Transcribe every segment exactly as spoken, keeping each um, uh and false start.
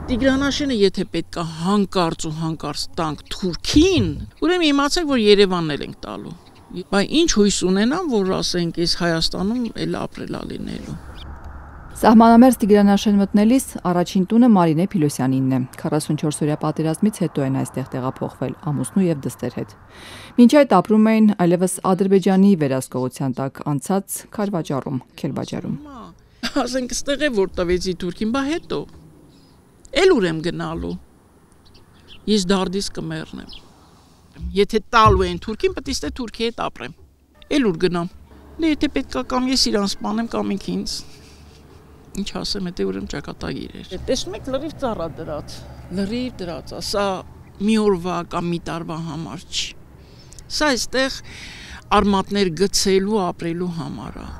Տիգրանաշենը եթե պետք է հանկարծ ու հանկարծ տանք Թուրքին, ուրեմն իմացեք, որ Երևանն էլ ենք տալու։ Բայց ինչ հույս ունենամ, որ ասենք այս Հայաստանում էլ ապրելա լինելու։ Սահմանամերձ Տիգրանաշեն մտնելիս առաջին տունը Մարինե Փիլոսյանինն է։ քառասունչորս օրյա պատերազմից հետո են այստեղ տեղափոխվել ամուսնու եւ դստեր հետ։ Մինչ այդ ապրում էին այլևս Ադրբեջանի վերահսկողության տակ անցած Քարվաճառում, Քելբաջարում։ Ասենք ստեղ է որ տվեցի Թուրքին, բա հետո էլ ուրեմ գնալու։ Ես դարդիս կմեռնեմ։ Եթե տալու են Թուրքին, պետք է Թուրքի հետ ապրեմ։ Էլ ուր գնամ։ Դե եթե պետք է կամ ես իրան սպանեմ, կամ ինք ինձ։ Ինչ ասեմ, եթե ուրեմ ճակատագիր էր։ Տեսնում եք լրիվ ծառա դրած, լրիվ դրած, սա մի օրվա կամ մի տարվա համար չի։ Սա այստեղ արմատներ գցելու, ապրելու համար է։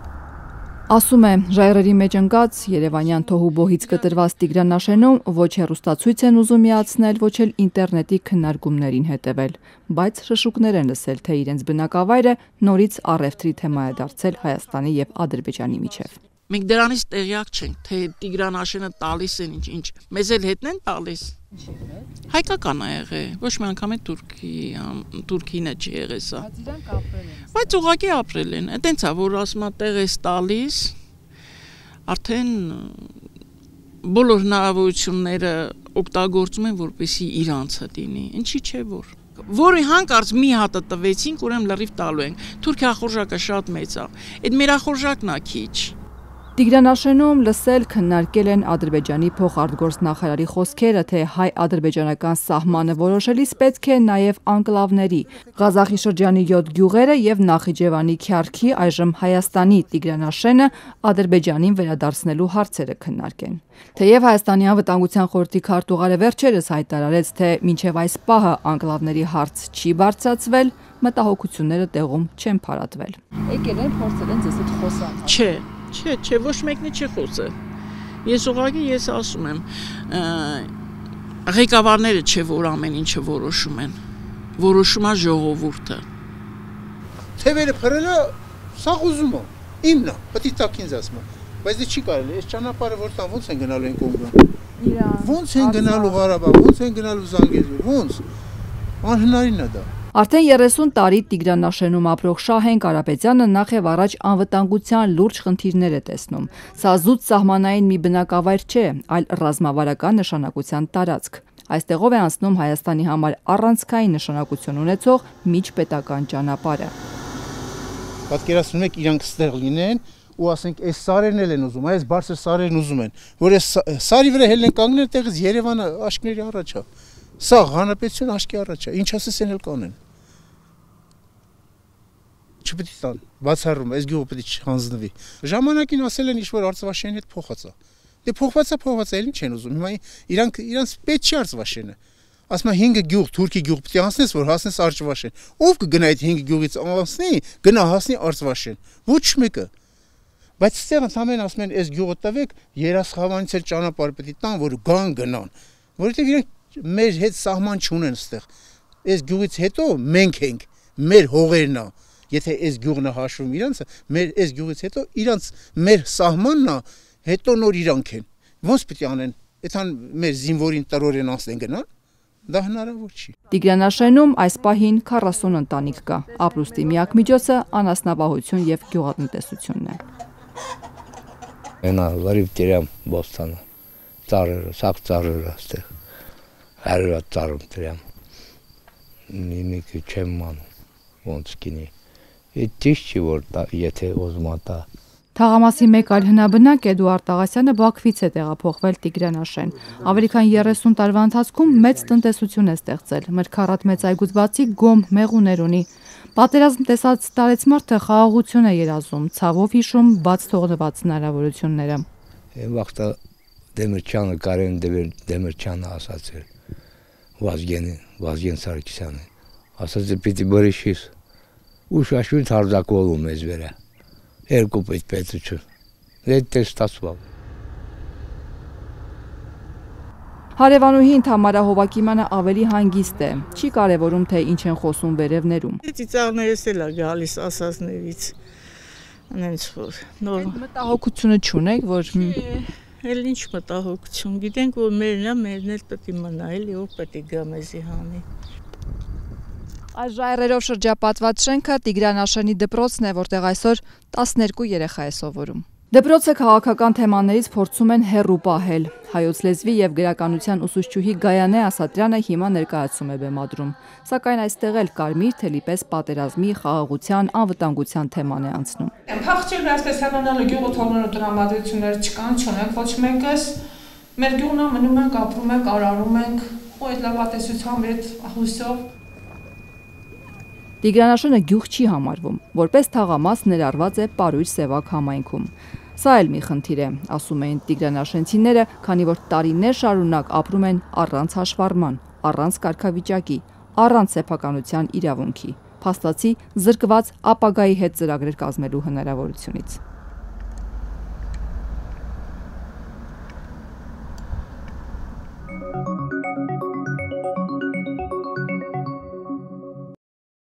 Ասում է, ժայռերի մեջ ընկած Երևանյան թոհուբոհից կտրված Տիգրանաշենում ոչ հեռուստացույց են ուզում միացնել, ոչ էլ ինտերնետի քննարկումներին հետևել, բայց շշուկներ են լսել, թե իրենց բնակավայրը նորից առևտրի թեմա է դարձել Հայաստանի եւ Ադրբեջանի միջև։ Մենք դրանից տեղյակ չենք, թե Տիգրանաշենը տալիս են ինչ-ինչ, մեզ էլ հետն են տալիս։ Հայկական է եղել, ոչ մի անգամ է Թուրքի, Թուրքին է չի եղել սա։ Բայց ուղղակի ապրել են, այտենց է, որ ասում է տեղ է տալիս, արդեն բոլոր հնարավորությունները օգտագործում են, որպեսզի իրանցը լինի, ինչի՞ չէ որ։ Որի հանկարծ մի հատը տվեցինք, ուրեմն լրիվ տալու ենք։ Թուրքիա խորժակը շատ մեծ է, այդ մեր խորժակն է քիչ։ Տիգրանաշենում լսել քննարկել են Ադրբեջանի փոխարտգործնախարարի խոսքերը, թե հայ-ադրբեջանական սահմանը որոշելիս պետք է նաև անկլավների, Ղազախի շրջանի յոթ գյուղերը եւ Նախիջևանի Քյարքի, այժմ Հայաստանի Տիգրանաշենը Ադրբեջանին վերադարձնելու հարցերը քննարկեն։ Թեև Հայաստանի անվտանգության խորհրդի քարտուղարը վերջերս հայտարարեց, թե մինչև այս պահը անկլավների հարց չի բարձրացվել, մտահոգությունները տեղում չեն փարատվել։ Եկել են փորձել են ձեզ հետ խոսալ։ Չէ, չէ, չէ, ոչ մեկն չի խոսել։ Ես ուղղակի ես ասում եմ, ղեկավարները չէ որ ամեն ինչը որոշում են։ Որոշում է ժողովուրդը։ Թևերը փռելը սա ուզում է։ Իմն է, պետք է տակ ինձ ասում։ Բայց դե չի կարելի, այս ճանապարհը որտեղ ոնց են գնալու են Կոնգո։ Իրան։ Ոնց են գնալու Ղարաբաղ, ոնց են գնալու Զանգեզուր, ոնց։ Անհնարին է դա։ Արդեն երեսուն տարի Տիգրանաշենում ապրող Շահեն Կարապետյանը նախ եւ առաջ անվտանգության լուրջ խնդիրներ է տեսնում։ Սա զուտ սահմանային մի բնակավայր չէ, այլ ռազմավարական նշանակության տարածք։ Այստեղով է անցնում Հայաստանի համար առանցքային նշանակություն ունեցող միջպետական ճանապարհը։ Պատկերացնում եք իրանք ստեղ լինեն ու ասենք այս սարերն էլ են ուզում, այս բարձր սարերն ուզում են, որ այս սարի վրա հելն են կանգնել, տեղից Երևանը աշկների առաջ է։ Սա հանրապետություն աշկի առաջ է, ինչ ասես են էլ կանեն։ Չպետք է տան, բացառում, այս գյուղը պետք է չհանձնվի։ Ժամանակին ասել են ինչ-որ Արծվաշենի հետ փոխած է։ Դե փոխված է, փոխված է, էլ ինչ են ուզում։ Հիմա իրանք իրանց պետք չի Արծվաշենը։ Ասում է հինգ գյուղ, Թուրքի գյուղ պետք է անցնես, որ հասնես Արծվաշեն։ Ով կգնա այդ հինգ գյուղից անցնի, գնա հասնի Արծվաշեն։ Ոչ մեկը։ Բայց ստեղ ընդհանրեն ասում են, այս գյուղը տվեք, Երասխավանից էլ ճանապարհ պետք է տան, որ գան գնան։ Որովհետև իրանք մեր հետ սահման չունեն ստեղ։ Այս գյուղից հետո մենք ենք, մեր հողերն է։ Եթե այս գյուղն է հաշվում իրանցը, մեր այս գյուղից հետո իրանց մեր սահմանն է, հետո նոր իրանք են։ Ոնց պետք է անեն։ Այդքան մեր զինվորին տրորեն անցնեն գնան, դա հնարավոր չի։ Տիգրանաշենում այս պահին քառասուն ընտանիք կա։ Ապրուստի միակ միջոցը անասնապահություն եւ գյուղատնտեսությունն է։ Այնա լրիվ դերամ բոստանը, ծառերը, սաղ ծառերը այստեղ, հարյուր ծառում դերամ, նիմիկը չեմ մանում, ոնց կինի, այդ ճիշտ չի, որ եթե ոզում ատա։ Թաղամասի մեկ այլ հնաբնակ Էդուարդ Աղասյանը Բաքվից է տեղափոխվել Տիգրանաշեն։ Ավելի քան երեսուն տարվա ընթացքում մեծ տնտեսություն է ստեղծել, մրգառատ մեծ այգուց բացի գոմ մեղուներ ունի։ Պատերազմ տեսած տարեցմարտը խաղաղություն է երազում, ցավով հիշում բաց թողնված հնարավորությունները։ Վաղտը Դեմիրճյանը, Կարեն Դեմիրճյանը ասացել, Վազգենը, Վազգեն Սարգսյանը, ասաց է պիտի բրիշիս, ու շաշույթ հարձակվելու մեզ վրա, երկու պետ պետություն, այդ տես ստացվավ։ Հարևանուհին Թամարա Հովակիմյանը ավելի հանգիստ է, չի կարևորում, թե ինչ են խոսում վերևներում։ Ծիծաղներս էլ է գալիս ասածներից, անենց որ նոր։ Մտահոգությունը չունեք, որ Էլ ինչ մտահոգություն, գիտենք, որ մերն է, մերն էլ պետք է մնա, էլի ով պետք է գա մեզի հանի։ Այս ժայռերով շրջապատված շենքը Տիգրան դպրոցն է, որտեղ այսօր տասներկու երեխա է սովորում։ Դպրոցը քաղաքական թեմաներից փորձում են հեռու պահել։ Հայոց լեզվի եւ գրականության ուսուցչուհի Գայանե Ասատրյանը հիմա ներկայացում է բեմադրում։ Սակայն այստեղ էլ կարմիր թելի պես պատերազմի, խաղաղության, անվտանգության թեման է անցնում։ Փախչել այսպես հեռանալու գյուղը թողնելու տրամադրություններ չկան, չունենք ոչ մեկս։ Մեր գյուղն մնում ենք, ապրում ենք, արարում ենք, ու այդ լավատեսությամբ, այդ հույսով։ Տիգրանաշենը գյուղ չի համարվում, որպես թաղամաս ներառված է Պարույր Սևակ համայնքում։ Սա էլ մի խնդիր է, ասում էին տիգրանաշենցիները, քանի որ տարիներ շարունակ ապրում են առանց հաշվառման, առանց կարգավիճակի, առանց սեփականության իրավունքի, փաստացի զրկված ապագայի հետ ծրագրեր կազմելու հնարավորությունից։